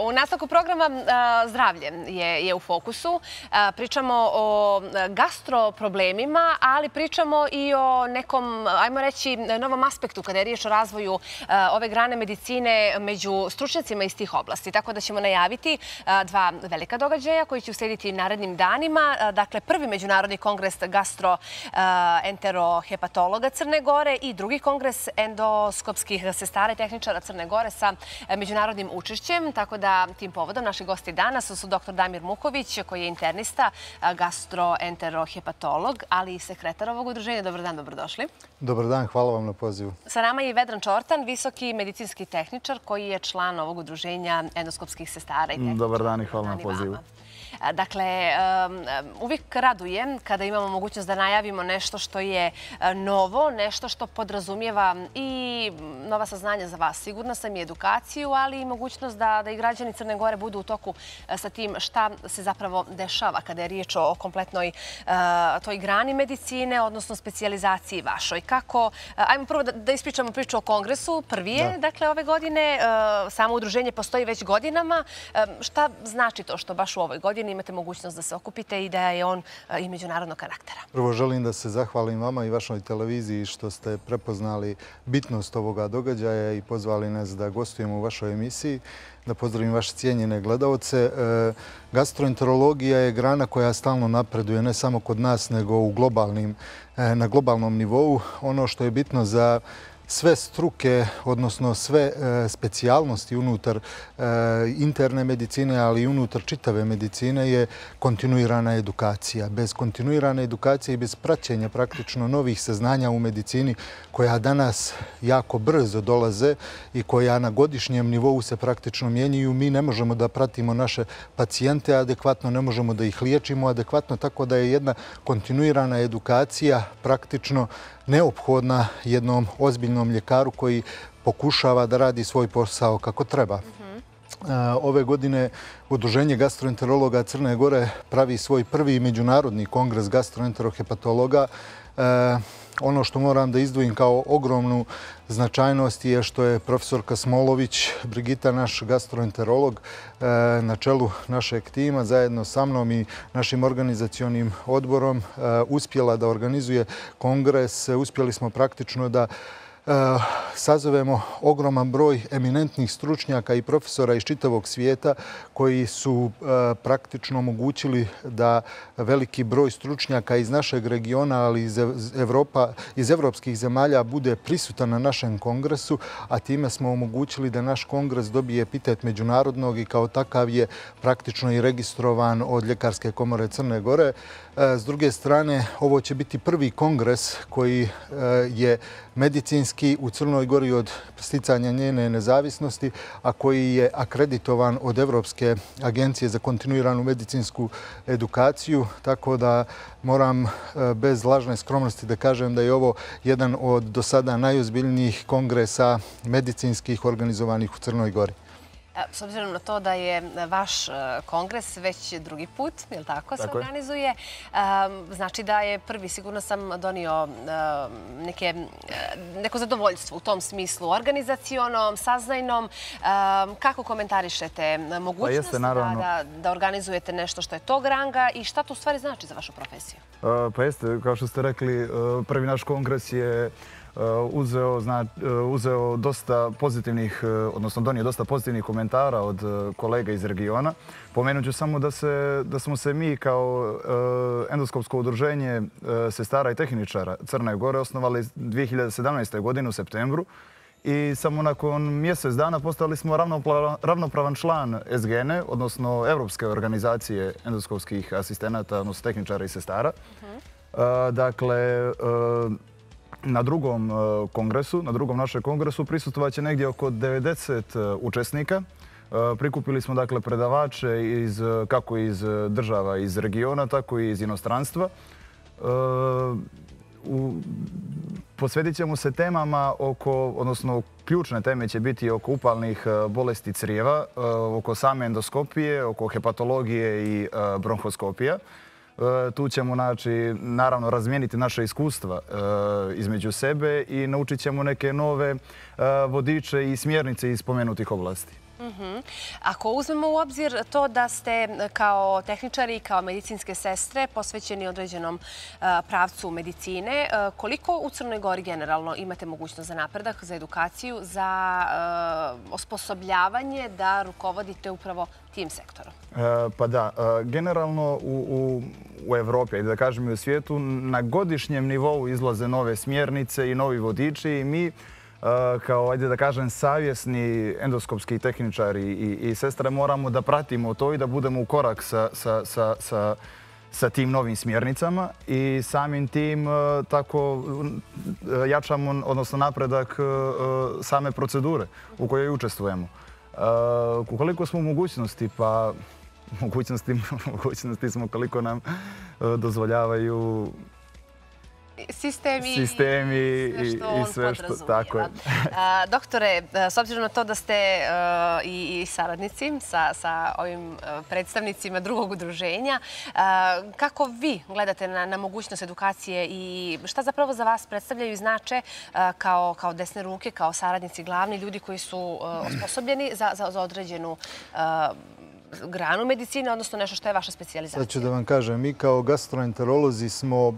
U nastavku programa zdravlje je u fokusu. Pričamo o gastroproblemima, ali pričamo i o nekom, ajmo reći, novom aspektu kada je riječ o razvoju ove grane medicine među stručnjacima iz tih oblasti. Tako da ćemo najaviti dva velika događaja koji će uslijediti narednim danima. Dakle, prvi Međunarodni kongres gastroenterohepatologa Crne Gore i drugi kongres endoskopskih sestara i tehničara Crne Gore sa međunarodnim učešćem. Tako da tim povodom naši gosti danas su dr. Damir Muković, koji je internista, gastroenterohepatolog, ali i sekretar ovog udruženja. Dobar dan, dobrodošli. Dobar dan, hvala vam na pozivu. Sa nama je i Vedran Čortan, visoki medicinski tehničar, koji je član ovog udruženja endoskopskih sestara i tehničara. Dobar dan i hvala na pozivu. Dakle, uvijek raduje kada imamo mogućnost da najavimo nešto što je novo, nešto što podrazumijeva i nova saznanja za vas. Sigurna sam i edukaciju, ali i mogućnost da i građani Crne Gore budu u toku sa tim šta se zapravo dešava kada je riječ o kompletnoj toj grani medicine, odnosno specijalizaciji vašoj. Kako, ajmo prvo da ispričamo priču o kongresu. Prvi je, dakle, ove godine. Samo udruženje postoji već godinama. Šta znači to što baš u ovoj godini imate mogućnost da se okupite i da je on i međunarodnog karaktera? Prvo želim da se zahvalim vama i vašoj televiziji što ste prepoznali bitnost ovoga događaja i pozvali nas da gostujemo u vašoj emisiji. Da pozdravim vaše cijenjene gledaoce. Gastroenterologija je grana koja stalno napreduje, ne samo kod nas, nego na globalnom nivou. Ono što je bitno za sve struke, odnosno sve specijalnosti unutar interne medicine, ali i unutar čitave medicine je kontinuirana edukacija. Bez kontinuirane edukacije i bez praćenja praktično novih saznanja u medicini koja danas jako brzo dolaze i koja na godišnjem nivou se praktično mijenjaju, mi ne možemo da pratimo naše pacijente adekvatno, ne možemo da ih liječimo adekvatno, tako da je jedna kontinuirana edukacija praktično neophodna jednom ozbiljnom ljekaru koji pokušava da radi svoj posao kako treba. Ove godine Udruženje gastroenterologa Crne Gore pravi svoj prvi međunarodni kongres gastroenterohepatologa. Ono što moram da izdvojim kao ogromnu značajnost je što je profesorka Smolović, Brigita, naš gastroenterolog, na čelu našeg tima, zajedno sa mnom i našim organizacionim odborom, uspjela da organizuje kongres. Uspjeli smo praktično da sazovemo ogroman broj eminentnih stručnjaka i profesora iz čitavog svijeta koji su praktično omogućili da veliki broj stručnjaka iz našeg regiona, ali iz evropskih zemalja bude prisutan na našem kongresu, a time smo omogućili da naš kongres dobije epitet međunarodnog i kao takav je praktično i registrovan od Ljekarske komore Crne Gore. S druge strane, ovo će biti prvi kongres koji je medicinski u Crnoj Gori od sticanja njene nezavisnosti, a koji je akreditovan od Evropske agencije za kontinuiranu medicinsku edukaciju. Tako da moram bez lažne skromnosti da kažem da je ovo jedan od do sada najozbiljnijih kongresa medicinskih organizovanih u Crnoj Gori. S obzirom na to da je vaš kongres već drugi put, je li tako, se organizuje, znači da je prvi, sigurno sam donio neko zadovoljstvo u tom smislu, organizacionom, saznajnom. Kako komentarišete mogućnost da organizujete nešto što je tog ranga i šta to u stvari znači za vašu profesiju? Pa jeste, kao što ste rekli, prvi naš kongres je uzeo dosta pozitivnih, odnosno donio dosta pozitivnih komentara od kolega iz regiona. Pomenut ću samo da smo se mi kao endoskopsko udruženje sestara i tehničara Crne Gore osnovali 2017. godine u septembru i samo nakon mjesec dana postali smo ravnopravan član SGN-e, odnosno Evropske organizacije endoskopskih asistenata, odnosno tehničara i sestara. Dakle, na drugom našem kongresu prisustvovat će negdje oko 90 učesnika. Prikupili smo dakle predavače kako iz država iz regiona, tako i iz inostranstva. Posvetit ćemo se temama odnosno ključne teme će biti oko upalnih bolesti crijeva, oko same endoskopije, oko hepatologije i bronhoskopija. Tu ćemo naravno razmijeniti naše iskustva između sebe i naučit ćemo neke nove vodiče i smjernice iz spomenutih oblasti. Ako uzmemo u obzir to da ste kao tehničari i kao medicinske sestre posvećeni određenom pravcu medicine, koliko u Crnoj Gori generalno imate mogućnost za napredak, za edukaciju, za osposobljavanje da rukovodite upravo tim sektorom? Pa da, generalno u Evropi, da kažem i u svijetu, na godišnjem nivou izlaze nove smjernice i novi vodiči i mi kao, ajde da kažem, savjesni endoskopski tehničari i sestre moramo da pratimo to i da budemo u korak sa tim novim smjernicama i samim tim tako jačamo, odnosno napredak same procedure u kojoj učestvujemo. Ukoliko smo u mogućnosti, pa mogućnosti smo koliko nam dozvoljavaju sistemi i sve što tako je. Doktore, s obzirom na to da ste i saradnici sa ovim predstavnicima drugog udruženja, kako vi gledate na mogućnost edukacije i šta zapravo za vas predstavljaju i znače kao desne ruke, kao saradnici, glavni ljudi koji su osposobljeni za određenu granu medicine, odnosno nešto što je vaša specijalizacija? Sad ću da vam kažem, mi kao gastroenterolozi smo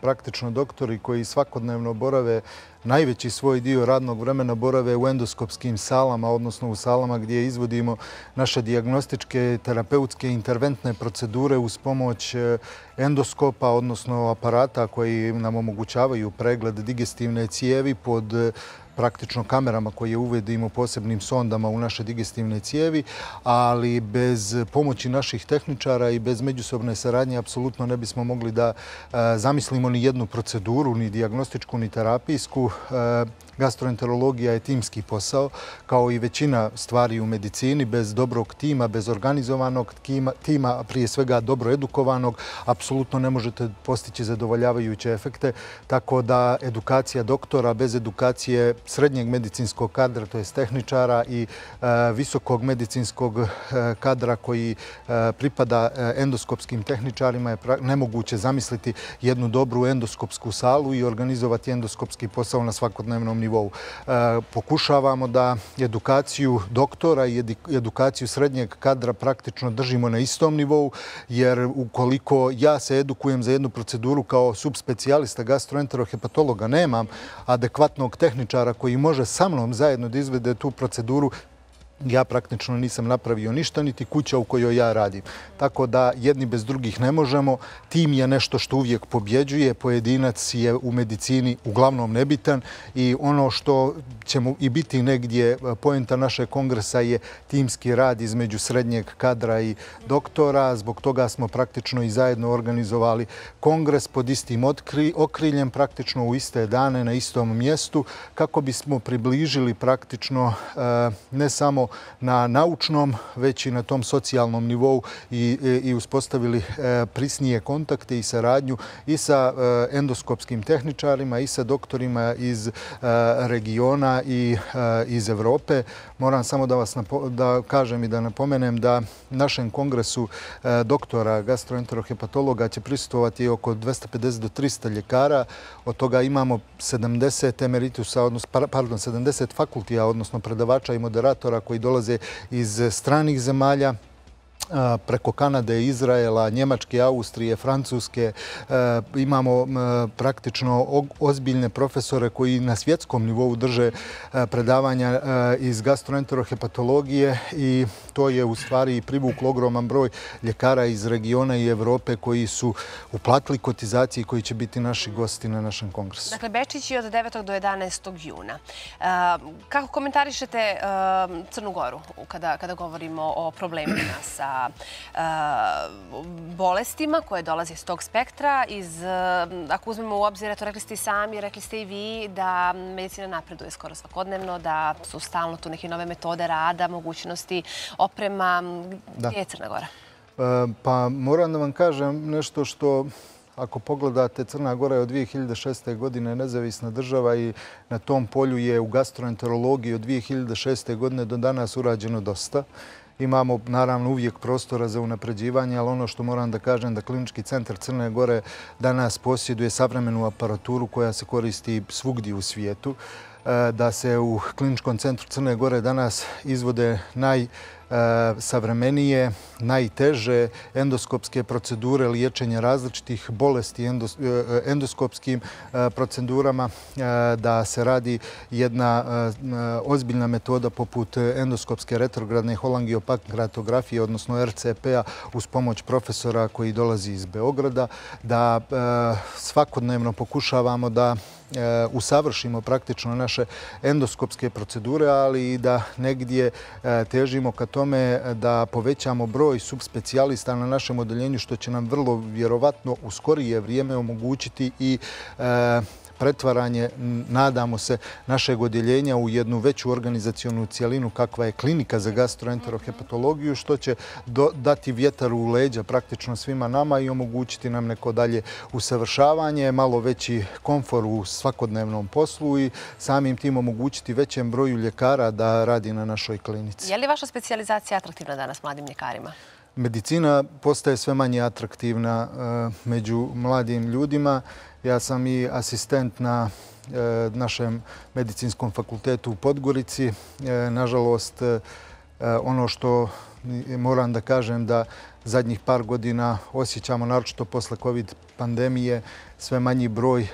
praktično doktori koji svakodnevno borave, najveći svoj dio radnog vremena borave u endoskopskim salama, odnosno u salama gdje izvodimo naše dijagnostičke, terapeutske, interventne procedure uz pomoć endoskopa, odnosno aparata koji nam omogućavaju pregled digestivne cijevi pod praktično kamerama koje uvedimo posebnim sondama u naše digestivne cijevi, ali bez pomoći naših tehničara i bez međusobne saradnje apsolutno ne bismo mogli da zamislimo ni jednu proceduru, ni dijagnostičku, ni terapijsku. Gastroenterologija je timski posao, kao i većina stvari u medicini. Bez dobrog tima, bez organizovanog tima, prije svega dobro edukovanog, apsolutno ne možete postići zadovoljavajuće efekte. Tako da edukacija doktora bez edukacije srednjeg medicinskog kadra, to je tehničara, i visokog medicinskog kadra koji pripada endoskopskim tehničarima je nemoguće zamisliti jednu dobru endoskopsku salu i organizovati endoskopski posao na svakodnevnom nivou. Pokušavamo da edukaciju doktora i edukaciju srednjeg kadra praktično držimo na istom nivou, jer ukoliko ja se edukujem za jednu proceduru kao subspecijalista gastroenterohepatologa, nemam adekvatnog tehničara koji može sa mnom zajedno da izvede tu proceduru, ja praktično nisam napravio ništa, niti kuća u kojoj ja radim. Tako da jedni bez drugih ne možemo. Tim je nešto što uvijek pobjeđuje. Pojedinac je u medicini uglavnom nebitan i ono što ćemo i biti negdje poenta našeg kongresa je timski rad između srednjeg kadra i doktora. Zbog toga smo praktično i zajedno organizovali kongres pod istim okriljem, praktično u iste dane na istom mjestu, kako bismo približili praktično ne samo na naučnom, već i na tom socijalnom nivou i uspostavili prisnije kontakte i saradnju i sa endoskopskim tehničarima i sa doktorima iz regiona i iz Evrope. Moram samo da kažem i da napomenem da našem kongresu doktora gastroenterohepatologa će prisustvovati oko 250 do 300 ljekara. Od toga imamo 70 emeritusa, pardon, 70 fakultija, odnosno predavača i moderatora koji dolaze iz stranih zemalja, preko Kanade, Izraela, Njemačke, Austrije, Francuske. Imamo praktično ozbiljne profesore koji na svjetskom nivou drže predavanja iz gastroenterohepatologije i to je u stvari privuklo ogroman broj ljekara iz regiona i Evrope koji su uplatili kotizaciji i koji će biti naši gosti na našem kongresu. Dakle, Bečić je od 9. do 11. juna. Kako komentarišete Crnu Goru kada govorimo o problemima sa bolestima koje dolaze iz tog spektra? Ako uzmemo u obzir, eto, rekli ste i sami, rekli ste i vi da medicina napreduje skoro svakodnevno, da su stalno tu neke nove metode rada, mogućnosti, oprema. Gdje je Crna Gora? Pa moram da vam kažem nešto što, ako pogledate, Crna Gora je od 2006. godine nezavisna država i na tom polju je u gastroenterologiji od 2006. godine do danas urađeno dosta. Imamo naravno uvijek prostora za unapređivanje, ali ono što moram da kažem da Klinički centar Crne Gore danas posjeduje savremenu aparaturu koja se koristi svugdje u svijetu. da se u Kliničkom centru Crne Gore danas izvode najsavremenije, najteže endoskopske procedure liječenja različitih bolesti endoskopskim procedurama, da se radi jedna ozbiljna metoda poput endoskopske retrogradne holangiopankreatografije, odnosno RCP-a, uz pomoć profesora koji dolazi iz Beograda, da svakodnevno pokušavamo da usavršimo praktično naše endoskopske procedure, ali i da negdje težimo ka tome da povećamo broj subspecijalista na našem odeljenju, što će nam vrlo vjerovatno u skorije vrijeme omogućiti i pretvaranje, nadamo se, našeg odjeljenja u jednu veću organizacionu cijelinu kakva je klinika za gastroenterohepatologiju, što će dati vjetar u leđa praktično svima nama i omogućiti nam neko dalje usavršavanje, malo veći komfor u svakodnevnom poslu i samim tim omogućiti većem broju ljekara da radi na našoj klinici. Je li vaša specijalizacija atraktivna danas mladim ljekarima? Medicina postaje sve manje atraktivna među mladim ljudima. Ja sam i asistent na našem medicinskom fakultetu u Podgorici. Nažalost, ono što moram da kažem da zadnjih par godina osjećamo, naročito posle COVID pandemije, sve manji broj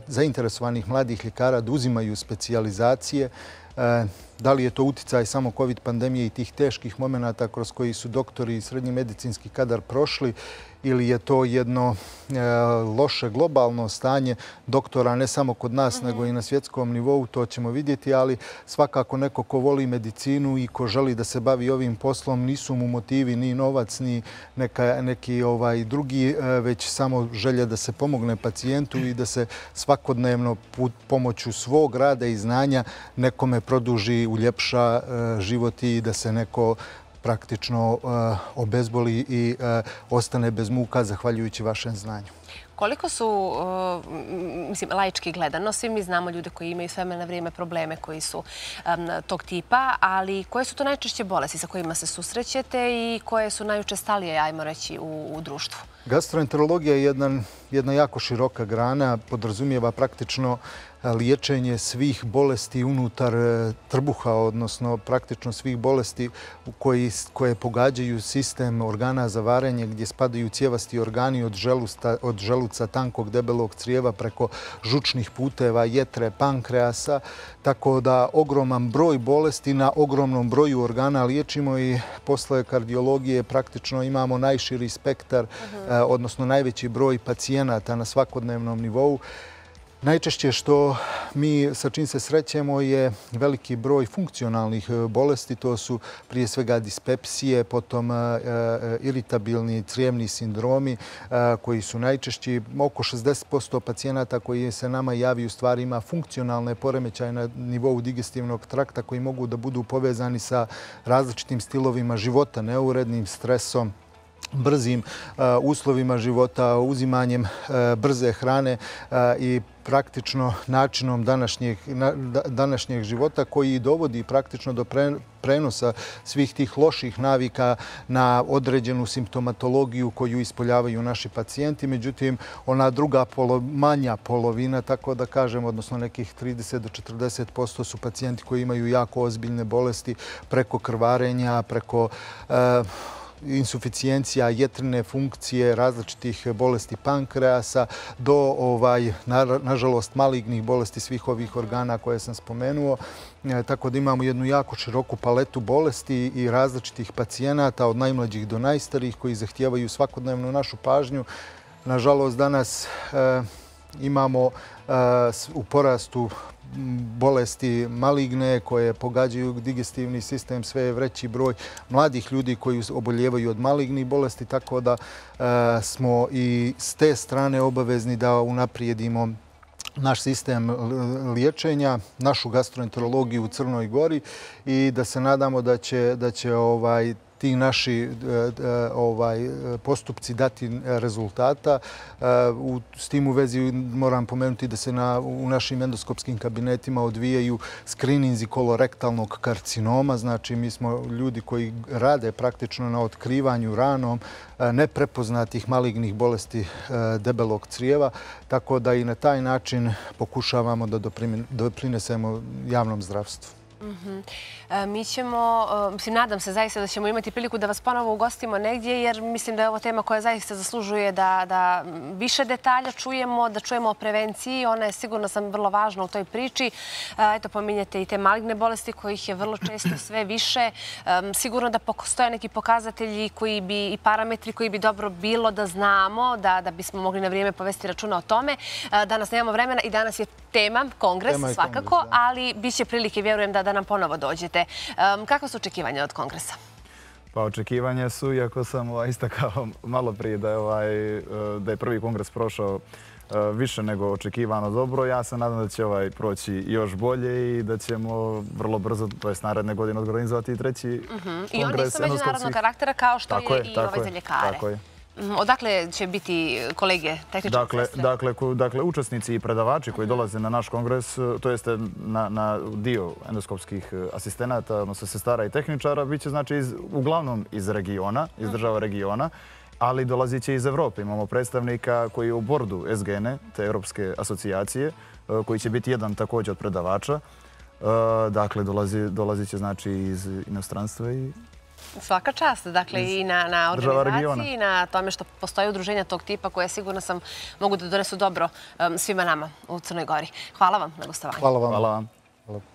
zainteresovanih mladih ljekara da uzimaju specijalizacije. Da li je to uticaj samo COVID pandemije i tih teških momenata kroz koji su doktori i srednji medicinski kadar prošli, ili je to jedno loše globalno stanje doktora ne samo kod nas nego i na svjetskom nivou, to ćemo vidjeti, ali svakako neko ko voli medicinu i ko želi da se bavi ovim poslom, nisu mu motivi ni novac ni neki drugi, već samo želja da se pomogne pacijentu i da se svakodnevno pomoću svog rada i znanja nekome produži, uljepša život i da se neko praktično obezboli i ostane bez muka zahvaljujući vašem znanju. Koliko su, laički gledano, svi mi znamo ljude koji imaju s vremena na vrijeme probleme koji su tog tipa, ali koje su to najčešće bolesti sa kojima se susrećete i koje su najučestalije, ajmo reći, u društvu? Gastroenterologija je jedna jako široka grana, podrazumijeva praktično liječenje svih bolesti unutar trbuha, odnosno praktično svih bolesti koje pogađaju sistem organa za varenje, gdje spadaju cjevasti organi od želuca, tankog, debelog crijeva preko žučnih puteva, jetre, pankreasa. Tako da ogroman broj bolesti na ogromnom broju organa liječimo i posle kardiologije praktično imamo najširi spektar, odnosno najveći broj pacijenata na svakodnevnom nivou. Najčešće što mi sa čim se srećemo je veliki broj funkcionalnih bolesti. To su prije svega dispepsije, potom iritabilni crijevni sindromi koji su najčešći. Oko 60% pacijenata koji se nama javi u stvari ima funkcionalne poremećaje na nivou digestivnog trakta koji mogu da budu povezani sa različitim stilovima života, neurednim stresom, brzim uslovima života, uzimanjem brze hrane i praktično načinom današnjeg života koji dovodi praktično do prenosa svih tih loših navika na određenu simptomatologiju koju ispoljavaju naši pacijenti. Međutim, ona druga manja polovina, tako da kažem, odnosno nekih 30 do 40% su pacijenti koji imaju jako ozbiljne bolesti preko krvarenja, preko insuficijencija jetrine funkcije, različitih bolesti pankreasa do, nažalost, malignih bolesti svih ovih organa koje sam spomenuo. Tako da imamo jednu jako široku paletu bolesti i različitih pacijenata od najmlađih do najstarijih koji zahtijevaju svakodnevnu našu pažnju. Nažalost, danas imamo u porastu bolesti maligne koje pogađaju digestivni sistem, sve je veći broj mladih ljudi koji oboljevaju od malignih bolesti, tako da smo i s te strane obavezni da unaprijedimo naš sistem liječenja, našu gastroenterologiju u Crnoj Gori i da se nadamo da će ti naši postupci dati rezultata. S tim u vezi moram pomenuti da se u našim endoskopskim kabinetima odvijaju skrininzi kolorektalnog karcinoma. Znači, mi smo ljudi koji rade praktično na otkrivanju ranom neprepoznatih malignih bolesti debelog crijeva, tako da i na taj način pokušavamo da doprinesemo javnom zdravstvu. Mi ćemo, nadam se zaista da ćemo imati priliku da vas ponovo ugostimo negdje, jer mislim da je ovo tema koja zaista zaslužuje da više detalja čujemo, da čujemo o prevenciji. Ona je, sigurno sam, vrlo važna u toj priči. Eto, pominjete i te maligne bolesti kojih je vrlo često sve više. Sigurno da postoje neki pokazatelji i parametri koji bi dobro bilo da znamo, da bismo mogli na vrijeme povesti računa o tome. Danas nemamo vremena i danas je tema kongres, svakako, ali bit će prilike, vjerujem, da nam ponovo dođete. Kakva su očekivanja od kongresa? Pa očekivanja su, iako sam istakao malo prije da je prvi kongres prošao više nego očekivano dobro, ja se nadam da će proći još bolje i da ćemo vrlo brzo, to je naredne godine, organizovati i treći kongres. I oni su međunarodnog karaktera kao što je i ovaj za ljekare. Tako je. Odakle će biti kolege tehničke sestre? Dakle, učesnici i predavači koji dolaze na naš kongres, to jeste na dio endoskopskih asistenata, odnosno sestara i tehničara, bit će znači uglavnom iz regiona, iz država regiona, ali dolazit će iz Evrope. Imamo predstavnika koji je u bordu SGN-e, te Europske asocijacije, koji će biti jedan također od predavača. Dakle, dolazit će znači iz inostranstva i... Svaka čast, dakle, i na organizaciji i na tome što postoje udruženja tog tipa koje, sigurno sam, mogu da donesu dobro svima nama u Crnoj Gori. Hvala vam na gostovanju. Hvala vam.